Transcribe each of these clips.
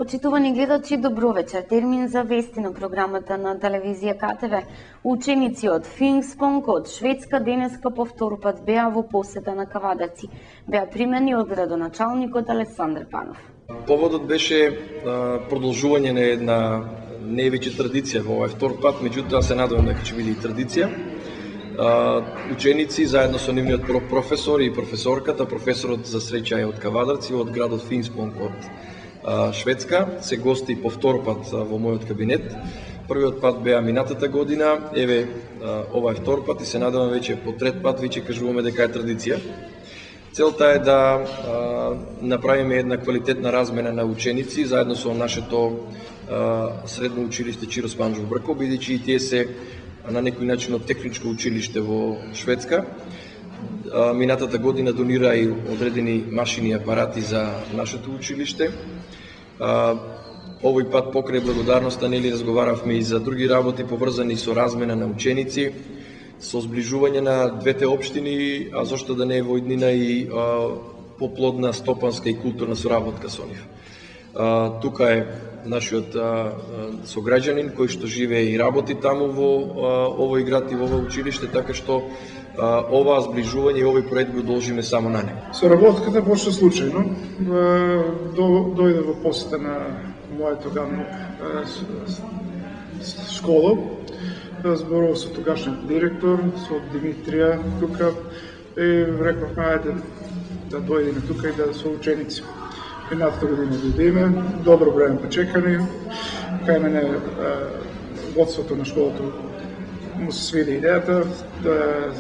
Почитувани гледачи, добро вечер. Термин за вести на програмата на телевизија КТВ. Ученици од Финспонг од Шведска денеска по втор пат беа во посета на Кавадарци. Беа примени од градоначалникот Александар Панов. Поводот беше продолжување на една не веќе традиција во овој втор пат, меѓутоа се надевам дека ќе биде и традиција. Ученици заедно со нивниот професор и професорката, професорот за среќа е од Кавадарци, од градот Финспонг од Шведска, се гости по втор пат во мојот кабинет. Првиот пат беа минатата година, еве ова е втор пат и се надевам веќе по трет пат веќе кажуваме дека е традиција. Целта е да направиме една квалитетна размена на ученици заедно со нашето средно училиште Чиро Спанџов Брко, бидејќи и тие се на некој начин од техничко училиште во Шведска. Минатата година донира и одредени машини и апарати за нашето училиште. Овој пат покрај благодарноста нели разговаравме и за други работи поврзани со размена на ученици, со зближување на двете општини, а зошто да не е во иднина и поплодна стопанска и културна соработка со нив. Тука е нашиот сограѓанин кој што живее и работи таму во овој град и во овој училиште, така што ова зближување и овој проект го должиме само на него. Соработката почна случајно. Дојде во посета на мојата тогавна школа. Зборував со тогашниот директор, со Димитрија тука и рековме ајде да дојдеме тука и да со ученици. Минатата година дојдеме, добро време почекани. Кај мене водството на школата му се свиди идејата да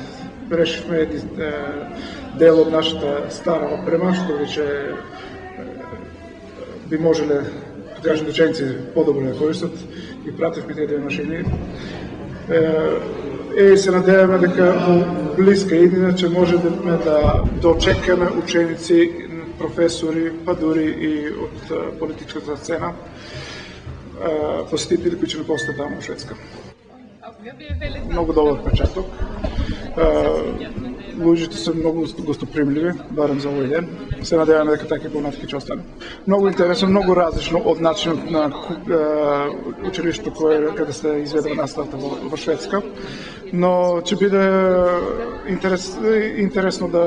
решивме дел од нашата стара опрема, што веќе би можеле тогашните ученици подобро да користат и пративме тие две машини. И се надеваме дека во блиска иднина ќе може да дочекаме ученици, професори, па дури и од политичката сцена, посетители кои ќе ме посетат таму во Шведска. Многу добар почеток. Луѓето се многу гостопримливи, барем за овој ден. Се надеваме дека така и понатака ќе остане. Многу интересно, многу различно од начинот на училиштето каде се изведува наставата во Шведска, но ќе биде интересно да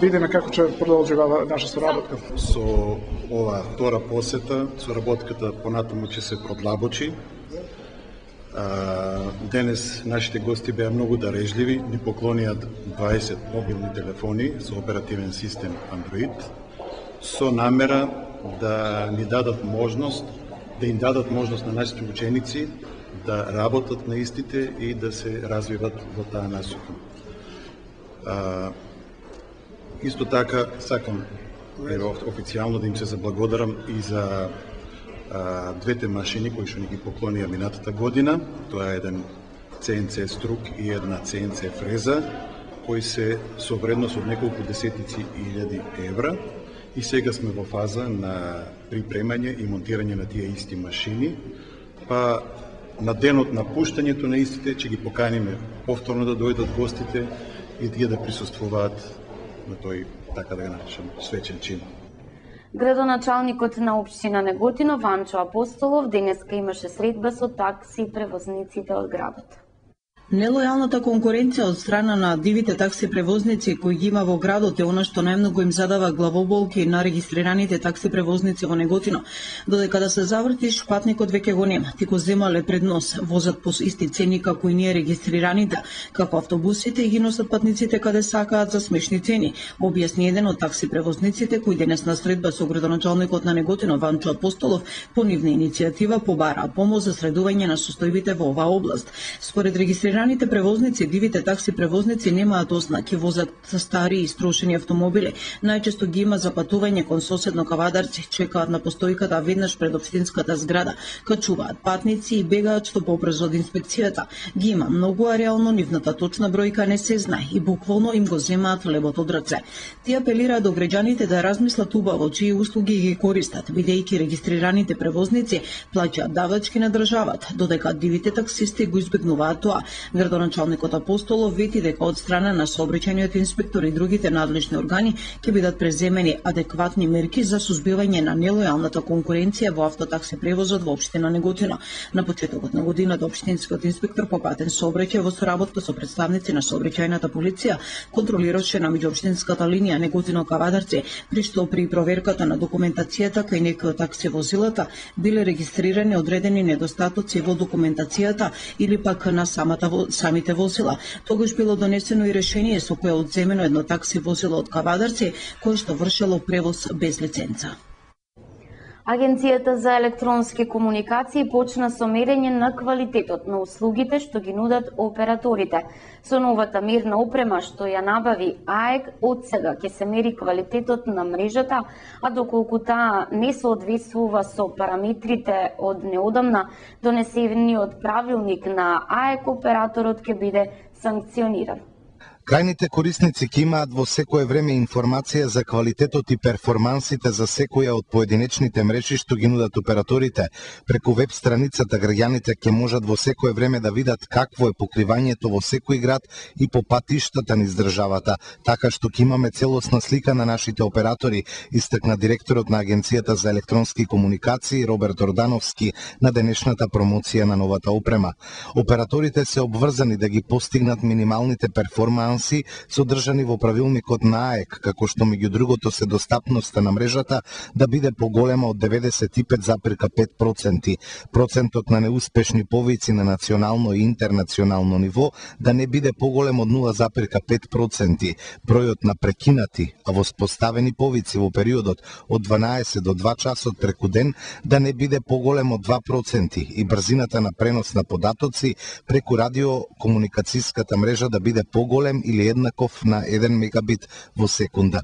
видиме како ќе продолжува наша соработка. Со ова втора посета, соработката понатаму ќе се продлабочи. Денес нашите гости беа многу дарежливи, ни поклонија 20 мобилни телефони со оперативен систем Android, со намера да ни дадат можност, да им дадат можност на нашите ученици да работат на истите и да се развиват во таа насока. Исто така сакам официјално да им се заблагодарам и за двете машини кои што ни ги поклонија минатата година. Тоа е еден CNC струк и една CNC фреза, кои се со вредност од неколку десетици илјади евра. И сега сме во фаза на припремање и монтирање на тие исти машини. Па на денот на пуштањето на истите ќе ги поканиме повторно да дојдат гостите и тие да присуствуваат на тој, така да го наречем, свечен чин. Градоначалникот на општина Неготино Ванчо Апостолов денеска имаше средба со такси превозниците од градот. Нелојалната конкуренција од страна на дивите такси превозници кои ги има во градот е она што најмногу им задава главоболки на регистрираните такси превозници во Неготино. Додека да се завртиш, патникот веќе го нема. Ти го земале пред нос, возат по исти цени како и ние регистрираните, како автобусите и ги носат патниците каде сакаат за смешни цени, објасни еден од такси превозниците кој денес на средба со градоначалникот на Неготино Ванчо Апостолов по нивна иницијатива побараа помош за средување на состојбите во оваа област. Според регистрираните превозници, дивите такси превозници немаат ознаки, возат стари и строшени автомобили, најчесто ги има за патување кон соседно Кавадарци, чекаат на постојката веднаш пред општинската зграда, качуваат патници и бегаат што побрзо од инспекцијата. Ги има многу, а реално нивната точна бројка не се знае и буквално им го земаат лебот од раце. Тие апелираат до граѓаните да размислат убаво чии услуги ги користат, бидејќи регистрираните превозници плаќаат давачки на државата, додека дивите таксисти го избегнуваат тоа, Градоначалникот Апостолов вети дека од страна на сообраќајниот инспектор и другите надлежни органи ќе бидат преземени адекватни мерки за сузбивање на нелојалната конкуренција во автотакси превозот во општина Неготино. На почетокот на годината општинскиот инспектор по патен сообраќај во соработка со представници на сообраќајната полиција контролираше на меѓуопштинската линија Неготино-Кавадарци, при што при проверката на документацијата кај некои од такси возилата биле регистрирани одредени недостатоци во документацијата или пак на самите возила. Тогаш било донесено и решение со кое одземено едно такси возило од Кавадарци кое што вршело превоз без лиценца. Агенцијата за електронски комуникации почна со мерење на квалитетот на услугите што ги нудат операторите. Со новата мирна опрема што ја набави АЕК, од сега ќе се мери квалитетот на мрежата, а доколку таа не соодветствува со параметрите од неодамна донесениот правилник на АЕК, операторот ќе биде санкциониран. Крајните корисници ќе имаат во секое време информација за квалитетот и перформансите за секоја од поединечните мрежи што ги нудат операторите. Преку веб страницата граѓаните ќе можат во секое време да видат какво е покривањето во секој град и по патиштата низ државата, така што ќе имаме целосна слика на нашите оператори, истакна директорот на Агенцијата за електронски комуникации Роберт Ордановски на денешната промоција на новата опрема. Операторите се обврзани да ги постигнат минималните перформанси содржани во правилникот на АЕК, како што меѓу другото се достапноста на мрежата да биде поголема од 95,5%, процентот на неуспешни повици на национално и интернационално ниво да не биде поголем од 0,5%, бројот на прекинати, а воспоставени повици во периодот од 12 до 2 часот преку ден да не биде поголем од 2% и брзината на пренос на податоци преку радиокомуникацијската мрежа да биде поголем или еднаков на 1 мегабит во секунда.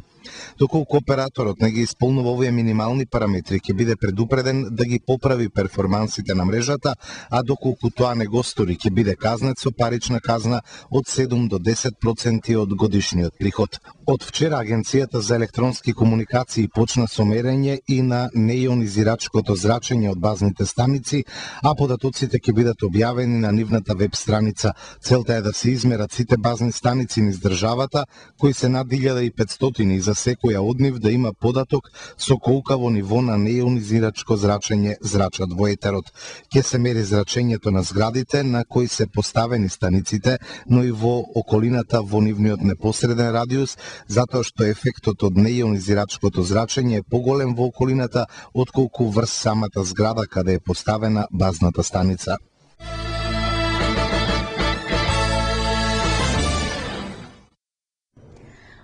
Доколку операторот не ги исполнува овие минимални параметри, ќе биде предупреден да ги поправи перформансите на мрежата, а доколку тоа не го стори, ќе биде казнет со парична казна од 7 до 10% од годишниот приход. Од вчера Агенцијата за електронски комуникации почна со мерење и на неионизирачкото зрачење од базните станици, а податоците ќе бидат објавени на нивната веб страница. Целта е да се измерат сите базни станици низ државата, кои се над 1500 и за секоја од нив да има податок со колкаво ниво на неионизирачко зрачење зрачат во етерот. Ќе се мери зрачењето на зградите на кои се поставени станиците, но и во околината во нивниот непосреден радиус, затоа што ефектот од неионизирачкото зрачење е поголем во околината отколку врз самата зграда каде е поставена базната станица.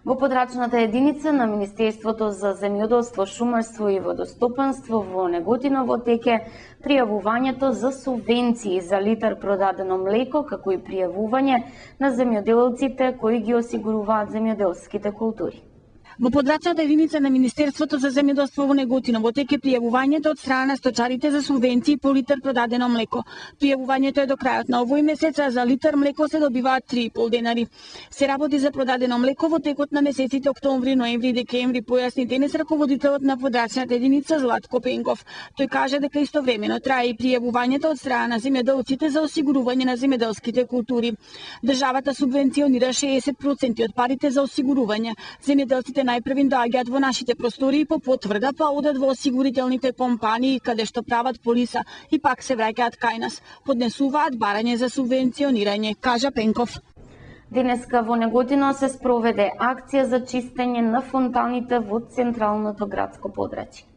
Во подрачната единица на Министерството за земјоделство, шумарство и водостопанство во Неготино теке пријавувањето за субвенции за литар продадено млеко, како и пријавување на земјоделците кои ги осигуруваат земјоделските култури. Во подрачната единица на Министерството за земјоделство во Неготино теке пријавувањето од страна на сточарите за субвенции по литар продадено млеко. Пријавувањето е до крајот на овој месец, а за литар млеко се добиваат 3,5 денари. Се работи за продадено млеко во текот на месеците октомври, ноември и декември, појасни денес раководителот на подрачната единица Златко Пенков. Тој кажа дека истовремено трае и пријавувањето од страна на земјоделците за осигурување на земјоделските култури. Државата субвенционира 60% од парите за осигурување. Земјоделците најпрвин доаѓаат во нашите простории по потврда, па одат во осигурителните компании каде што прават полиса и пак се враќаат кај нас. Поднесуваат барање за субвенционирање, кажа Пенков. Денеска во Неготино се спроведе акција за чистење на фонтаните во централното градско подрачје.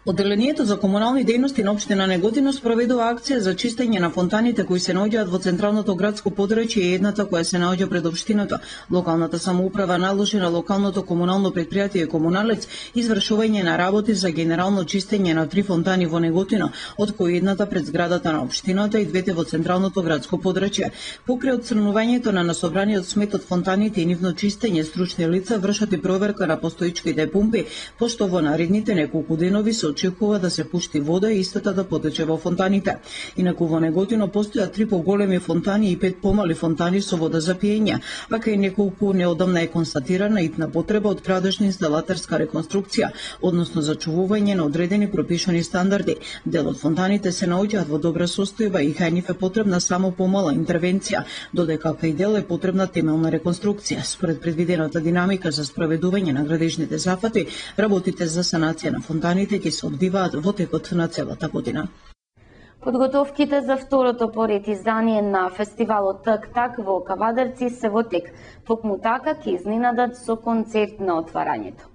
Одделението за комунални дејности на општина Неготино спроведува акција за чистење на фонтаните кои се наоѓаат во централното градско подрачје и едната која се наоѓа пред општината. Локалната самоуправа наложи на локалното комунално претпријатие Комуналец извршување на работи за генерално чистење на 3 фонтани во Неготино, од кои едната пред зградата на општината и двете во централното градско подрачје. Покрај отстранувањето на насобраниот смет од фонтаните и нивно чистење, стручни лица вршат и проверка на постоичките пумпи, пошто во наредните неколку денови се очекува да се пушти вода и истата да потече во фонтаните. Инаку во Неготино постојат 3 поголеми фонтани и 5 помали фонтани со вода за пиење, а кај неколку неодамна е констатирана итна потреба од градошна инсталатерска реконструкција, односно зачувување на одредени пропишани стандарди. Дел од фонтаните се наоѓаат во добра состојба и кај нив е потребна само помала интервенција, додека кај дел е потребна темелна реконструкција. Според предвидената динамика за спроведување на градежните зафати, работите за санација на фонтаните ќе се одвиваат во текот на целата година. Подготовките за второто поред издание на фестивалот Так-Так во Кавадарци се во тек. Токму така ќе изненадат со концерт на отварањето.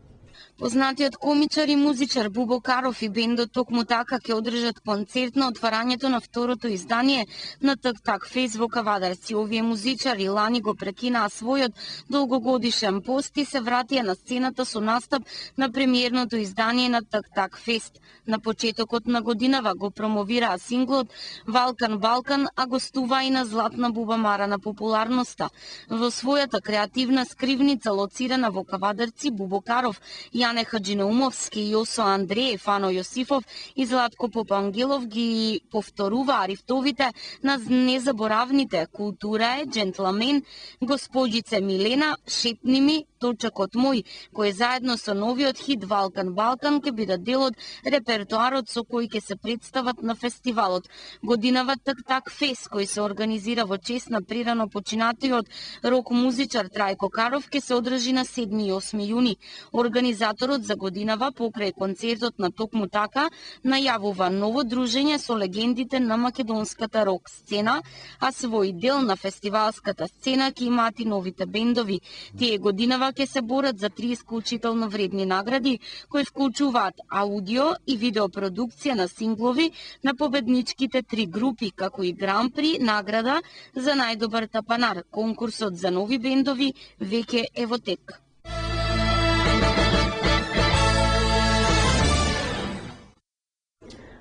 Познатиот комичар и музичар Бубо Каров и бендот Токму така ќе одржат концерт на отварањето на второто издание на Так-Так фест во Кавадарци. Овие музичари лани го прекинаа својот долгогодишен пост и се вратија на сцената со настап на премиерното издание на Так-Так фест. На почетокот на годинава го промовираа синглот Балкан Балкан, а гостуваа и на златна бубамара на популарноста. Во својата креативна скривница лоцирана во Кавадарци, Бубо Каров, Јане Хаджинаумовски, Јосо Андреев, Ано Јосифов и Златко Попангелов ги повторуваа рифтовите на незаборавните Култура е, Джентламен, Господјице Милена, Шепни ми, Точакот мој, кој заедно со новиот хит Балкан Балкан ќе бидат дел од репертоарот со кој ќе се представат на фестивалот. Годинава Так-Так фест, кој се организира во чест на прирано починатиот рок музичар Трајко Каров, ќе се одржи на 7 и 8 јуни. Организаторот за годинава покрај концертот на Токму така најавува ново дружење со легендите на македонската рок сцена, а свој дел на фестивалската сцена ќе имаат и новите бендови. Тие годинава ќе се борат за 3 исклучително вредни награди, кои вклучуваат аудио и видеопродукција на синглови на победничките 3 групи, како и Гран-при награда за најдобар тапанар. Конкурсот за нови бендови веќе е во тек.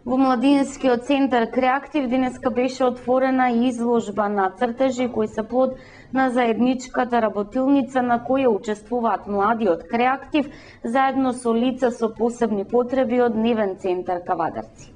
Во Младинскиот центар Креатив денеска беше отворена изложба на цртежи кои се плод на заедничката работилница на која учествуваат млади од Креатив заедно со лица со посебни потреби од Дневен центар Кавадарци.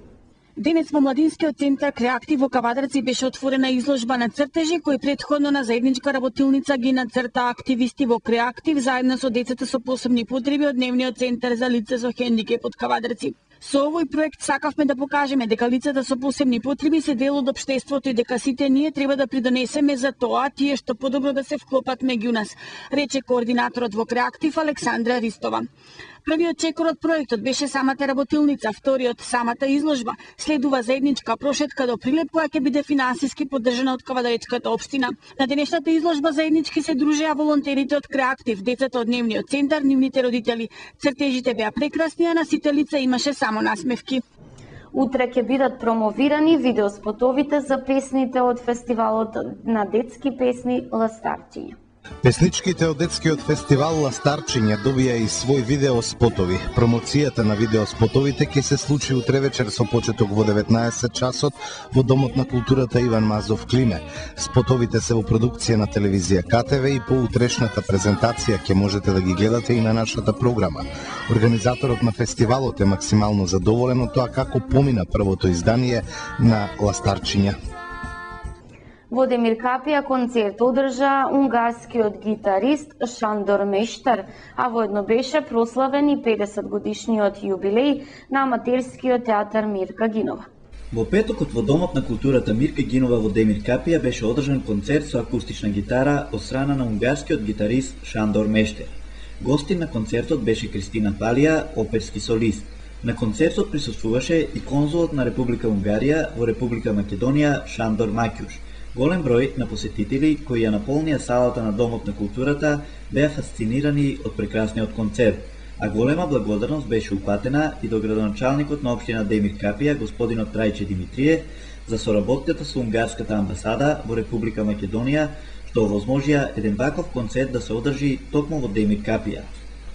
Денес во Младинскиот центар Креатив во Кавадарци беше отворена изложба на цртежи кои претходно на заедничка работилница ги нацртаа активисти во Креатив заедно со децата со посебни потреби од Дневниот центар за лица со хендикеп од Кавадарци. Со овој проект сакавме да покажеме дека лицата со посебни потреби се дел од општеството и дека сите ние треба да придонесеме за тоа тие што подобро да се вклопат меѓу нас, рече координаторот во Креатив Александра Ристова. Првиот чекор од проектот беше самата работилница, вториот самата изложба, следува заедничка прошетка до Прилеп која ќе биде финансиски поддржана од Кавадаречката општина. На денешната изложба заеднички се дружеа волонтерите од Креатив, децата од Дневниот центар, нивните родители. Цртежите беа прекрасни, а на сите лица имаше само насмевки. Утре ќе бидат промовирани видеоспотовите за песните од фестивалот на детски песни Ластарчиња. Песничките од детскиот фестивал Ластарчиња добија и свој видеоспотови. Промоцијата на видеоспотовите ќе се случи утре вечер со почеток во 19 часот во Домот на културата Иван Мазов Климе. Спотовите се во продукција на телевизија КТВ и по утрешната презентација ќе можете да ги гледате и на нашата програма. Организаторот на фестивалот е максимално задоволен од тоа како помина првото издание на Ластарчиња. Во Демир Капија концерт одржа унгарскиот гитарист Шандор Мештар, а воедно беше прославен и 50 годишниот јубилеј на аматерскиот театар Мирка Гинова. Во петокот во Домот на културата Мирка Гинова во Демир Капија беше одржан концерт со акустична гитара од страна на унгарскиот гитарист Шандор Мештар. Гостин на концертот беше Кристина Палија, оперски солист. На концертот присуствуваше и конзулот на Република Унгарија во Република Македонија Шандор Макјуш. Голем број на посетители кои ја наполнија салата на Домот на културата беа фасцинирани од прекрасниот концерт, а голема благодарност беше упатена и до градоначалникот на општина Демир Капија, господинот Трајче Димитриев, за соработката со унгарската амбасада во Република Македонија, што овозможија еден ваков концерт да се одржи токму во Демир Капија.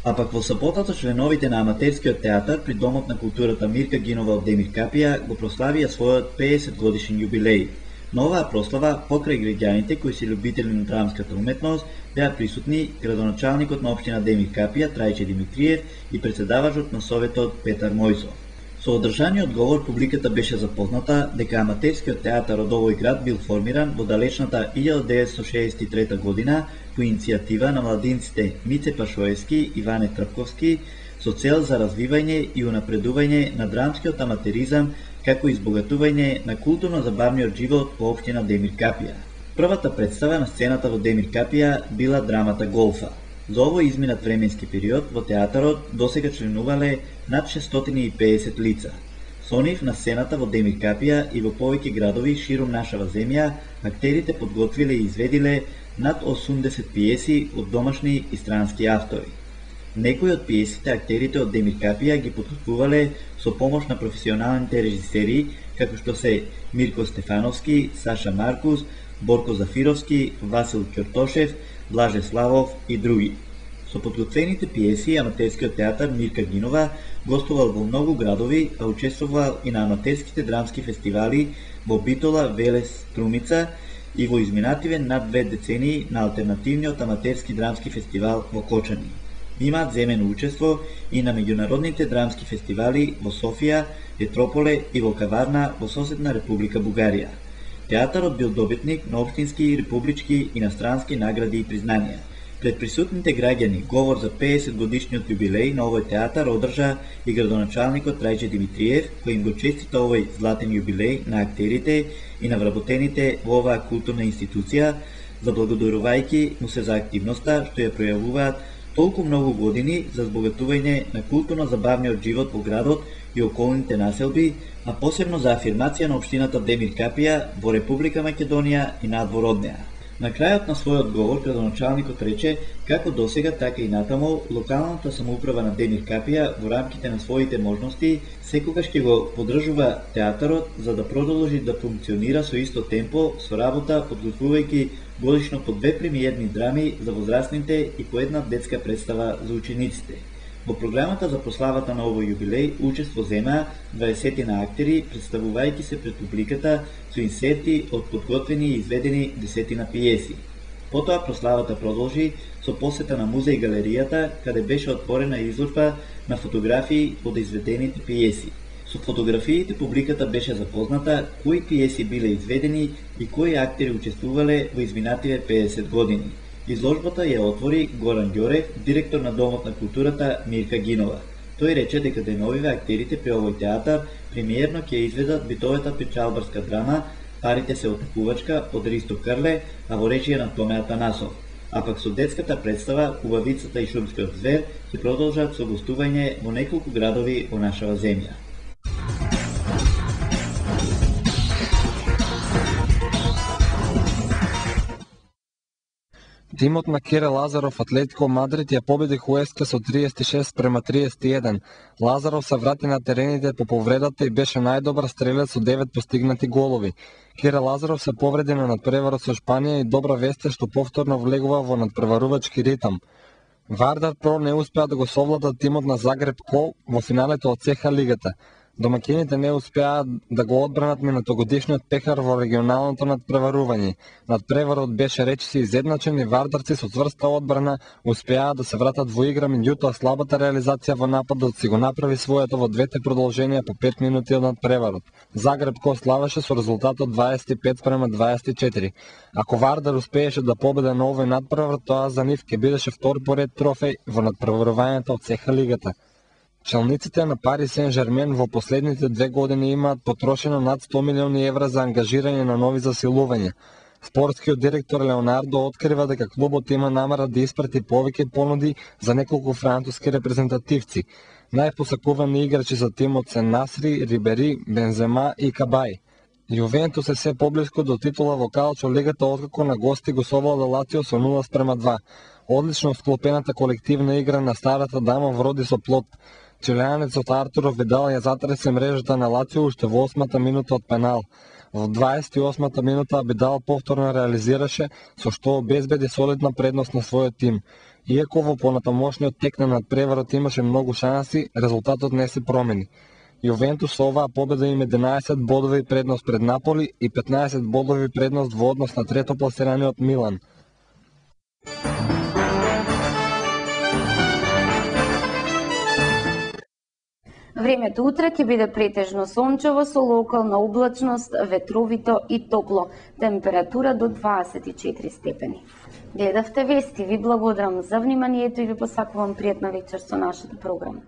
А пак во саботата членовите на аматерскиот театар при Домот на културата Мирка Гинова од Демир Капија го прославија својот 50 годишен јубилеј. На оваа прослава, покрај граѓаните кои се љубители на драмската уметност, беа присутни градоначалникот на општина Демир Капија Трајче Димитриев и председавачот на советот Петар Мојсов. Со одржаниот говор публиката беше запозната дека аматерскиот театар од овој град бил формиран во далечната 1963 година по иницијатива на младинците Мице Пашоевски и Ване Трпковски со цел за развивање и унапредување на драмскиот аматеризам како и избогатување на културно-забавниот живот во општина Демир Капија. Првата представа на сцената во Демир Капија била драмата Голфа. За овој изминат временски период во театарот досега членувале над 650 лица. Со нив на сцената во Демир Капија и во повеќе градови ширум нашава земја, актерите подготвиле и изведиле над 80 пиеси од домашни и странски автори. Некои од пиесите актерите од Демир Капија ги подготвувале со помош на професионалните режисери, како што се Мирко Стефановски, Саша Маркус, Борко Зафировски, Васил Ќортошев, Блаже Славов и други. Со подготвените пиеси аматерскиот театар Мирка Гинова гостувал во многу градови, а учествувал и на аматерските драмски фестивали во Битола, Велес, Струмица и во изминативе над 2 децении на алтернативниот аматерски драмски фестивал во Кочани. Имаат земено учество и на меѓународните драмски фестивали во Софија, Етрополе и во Каварна во соседна Република Бугарија. Театарот бил добитник на општински, републички, инострански награди и признанија. Пред присутните граѓани говор за 50 годишниот јубилеј на овој театар одржа и градоначалникот Трајче Димитриев, кој им го честита овој златен јубилеј на актерите и на вработените во оваа културна институција, заблагодарувајќи му се за активноста што ја пројавуваат толку многу години за збогатување на културно-забавниот живот во градот и околните населби, а посебно за афирмација на општината Демир Капија во Република Македонија и надвор од неа. На крајот на својот говор градоначалникот рече како досега, така и натаму локалната самоуправа на Демир Капија во рамките на своите можности секогаш ќе го поддржува театарот за да продолжи да функционира со исто темпо со работа, подготвувајќи годишно по 2 премиерни драми за возрастните и по една детска представа за учениците. Во програмата за прославата на овој јубилеј учество земаа 20 на актери, представувајќи се пред публиката со инсерти од подготвени и изведени 10 на пиеси. Потоа прославата продолжи со посета на музеј галеријата, каде беше отворена изложба на фотографии од изведените пиеси. Со фотографиите публиката беше запозната кои пиеси биле изведени и кои актери учествувале во изминативе 50 години. Изложбата ја отвори Горан Ѓорев, директор на Домот на културата Мирка Гинова. Тој рече дека деновиве актерите при овој театар премиерно ќе изведат битовата печалбарска драма Парите се отекувачка од Ристо Крле, а во речија на Томе Атанасов. А пак со детската представа Убавицата и шумскиот звер ќе продолжат со гостување во неколку градови во нашава земја. Тимот на Кере Лазаров Атлетико Мадрид ја победи Хуеска со 36-31. Лазаров се врати на терените по повредата и беше најдобар стрелец со 9 постигнати голови. Кере Лазаров се повреди на надпреварот со Шпанија и добра вест е што повторно влегува во надпреварувачки ритам. Вардар Про не успеа да го совлада тимот на Загреб Ко во финалето од ЦХ лигата. Домакините не успеа да го одбранат минатогодишниот пехар во регионалното надпреварување. Надпреварот беше речиси изедначен и вардарци со цврста одбрана успеа да се вратат во игра, меѓутоа слабата реализација во нападот си го направи своето во двете продолженија по 5 минути од надпреварот. Загреб Ко славеше со резултатот 25-24. Ако Вардар успееше да победе на овој надпревар, тоа за нив ќе бидеше втор поред трофеј во надпреварувањето од ЦХ лигата. Челниците на Пари Сен-Жермен во последните 2 години имаат потрошено над 100 милиони евра за ангажирање на нови засилувања. Спортскиот директор Леонардо открива дека клубот има намера да испрати повеќе понуди за неколку француски репрезентативци. Најпосакувани играчи за тимот се Насри, Рибери, Бензема и Кабај. Јувентус е се поблиску до титула во Калчо лигата откако на гости го совлада Лацио со 0-2. Одлично склопената колективна игра на старата дама вроди со плод. Чилеанецот Артуро Видал ја затресе мрежата на Лацио уште во 8-та минута од пенал. Во 28-та минута Видал повторно реализираше, со што обезбеди солидна предност на својот тим. Иако во понатамошниот тек на надпреварот имаше многу шанси, резултатот не се промени. Јувентус со оваа победа има 11 бодови предност пред Наполи и 15 бодови предност во однос на трето пласираниот Милан. Времето утре ќе биде претежно сончево со локална облачност, ветровито и топло, температура до 24 степени. Гледавте вести, ви благодарам за вниманието и ви посакувам пријатна вечер со нашата програма.